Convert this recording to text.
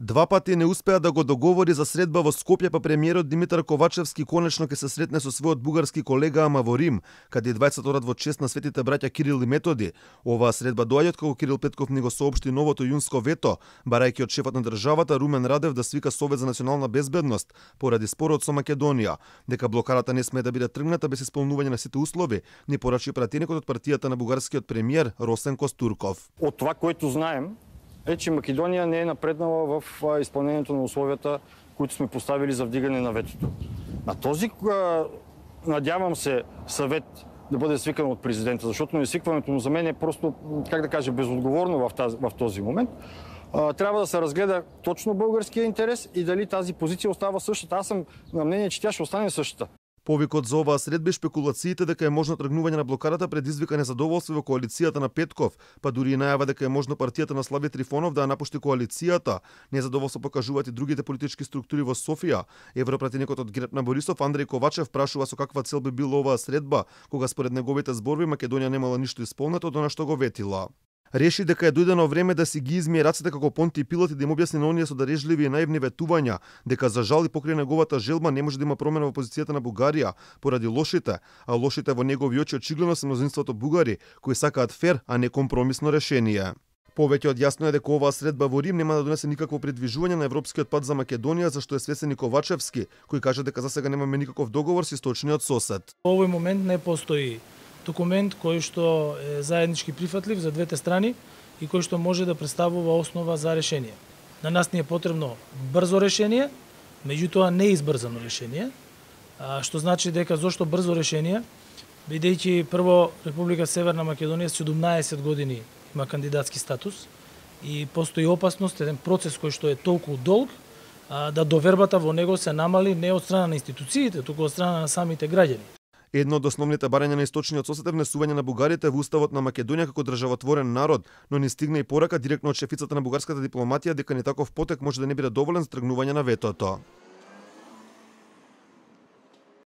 Два пати не успеа да го договори за средба во Скопје, па премиерот Димитар Ковачевски конечно ќе се сретне со својот бугарски колега Ама во Рим, каде и двајцата одат во чест на светите браќа Кирил и Методи. Оваа средба доаѓа како Кирил Петков ни го соопшти новото јунско вето, барајќи од шефот на државата Румен Радев да свика Совет за национална безбедност поради спорот со Македонија, дека блокарата не смее да биде тргната без исполнување на сите услови, ни порачи пратеникот од партијата на бугарскиот премиер Росен Костурков. Од това, което знаем, е, че Македонија не е напреднала в изпълнението на условията, които сме поставили за вдигане на ветото. На този, надявам се, съвет да бъде свикан от президента, защото несвикването му за мен е просто, как да кажа, безотговорно в този момент. Трябва да се разгледа точно българския интерес и дали тази позиция остава същата. Аз съм на мнение, че тя ще остане същата. Повикот за оваа средба и шпекулациите дека е можно тргнување на блокарата предизвика незадоволство во коалицијата на Петков, па дури и најава дека е можно партијата на Слави Трифонов да ја напушти коалицијата. Незадоволство покажуваат и другите политички структури во Софија. Европратеникот од ГЕРБ на Борисов Андреј Ковачев прашува со каква цел би била оваа средба, кога според неговите зборови Македонија немала ништо исполнето од она што го ветила. Реши дека е дојдено време да си ги измие рацете како Понти Пилат и да им објасни на оние со дарежливи и наивни ветувања, дека за жал и покрај неговата желба не може да има промена во позицијата на Бугарија поради лошите, а лошите во негови очи очигледно се мнозинството бугари, кои сакаат фер, а не компромисно решение. Повеќе од јасно е дека оваа средба во Рим нема да донесе никакво придвижување на европскиот пат за Македонија, зашто е свесен и Ковачевски, кој кажа дека засега немаме никаков договор со источниот сосед. Во овој момент не постои документ кој што е заеднички прифатлив за двете страни и кој што може да представува основа за решение. На нас ни е потребно брзо решение, меѓутоа не избрзано решение, што значи дека зошто брзо решение, бидејќи прво Република Северна Македонија 17 години има кандидатски статус и постои опасност еден процес кој што е толку долг да довербата во него се намали не од страна на институциите, туку од страна на самите граѓани. Едно од основните барања на источниот сосед е внесување на бугарите во уставот на Македонија како државотворен народ, но ни стигна и порака директно од шефицата на бугарската дипломатија дека ни таков потек може да не биде доволен за тргнување на ветото.